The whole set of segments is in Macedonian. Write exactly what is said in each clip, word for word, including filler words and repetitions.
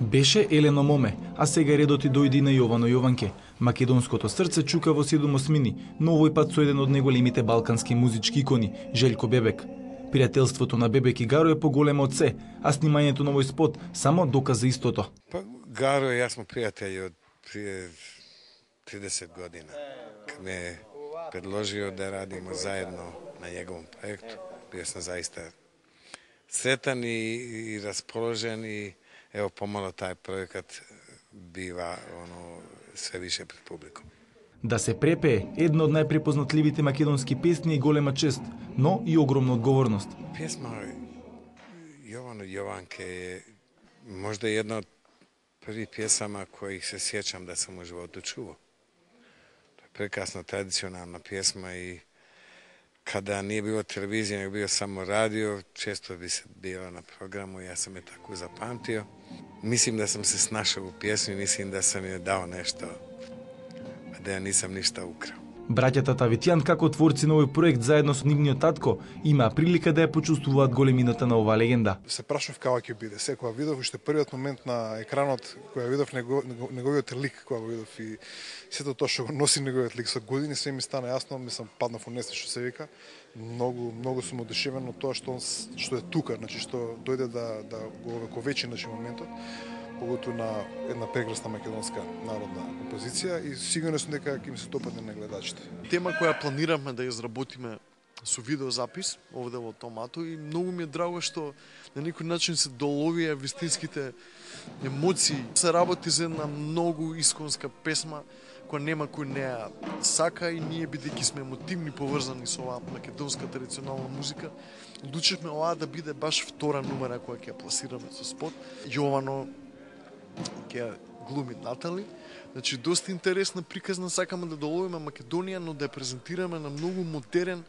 Беше Елено Моме, а сега редот и дојде на Јовано Јованке. Македонското срце чука во седум осмини, но овој пат со еден од најголемите балкански музички икони, Желјко Бебек. Пријателството на Бебек и Гаро е поголемо од се, а снимањето на овој спот само доказа истото. Па Гаро и јас сме пријатели од прije тридесет година. Кад ме предложио да радиме заедно на неговом проекту, био сам заиста сретан и, и расположен и ево помало тај проекат бива оно све више пред публикум. Да се препее една од најпрепознатливите македонски песни е голема чест, но и огромна одговорност. Песма Јовано Јованке е можда една од први песама кои се сjećam да сам во животу чувao. Тоа е прекрасна традиционална песма и kada nije bilo televizije, nego bio samo radio, često bi se bila na programu i ja sam je tako zapamtio. Mislim da sam se snašao u pjesmi, mislim da sam je dao nešto, a da ja nisam ništa ukrao. Браќата Тавитјан, како творци на овој проект заедно со нивниот татко, имаа прилика да ја почувствуваат големината на оваа легенда. Се прашав како ќе биде. Секоја видов уште првиот момент на екранот која видов него, неговиот лик која го видов и сето тоа што го носи неговиот лик со години се ми стана јасно, мислам паднав во несте што се вика. Многу многу сум одушевен од тоа што он што е тука, значи што дојде да да го овековечи значи моментот. Поготово на една прекрасна македонска народна композиција и сигурно сум дека ќе им се допадне на гледачите. Тема која планираме да изработиме со видеозапис овде во Томато и многу ми е драго што на некој начин се доловија вистинските емоции. Се работи за една многу исконска песма која нема кој не ја сака и ние бидејќи сме емотивни поврзани со оваа македонска традиционална музика, одлучивме оваа да биде баш втора номера која ќе ја пласираме со спот. Јовано ќе глуми Натали. Значи, доста интересна приказна, сакаме да доловиме Македонија, но да ја презентираме на многу модерен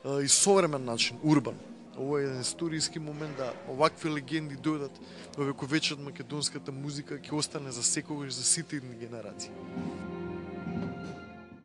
а, и современ начин, урбан. Ово е еден историски момент да овакви легенди дојдат во вековечат македонската музика, ќе остане за секогаш за сите едни генерации.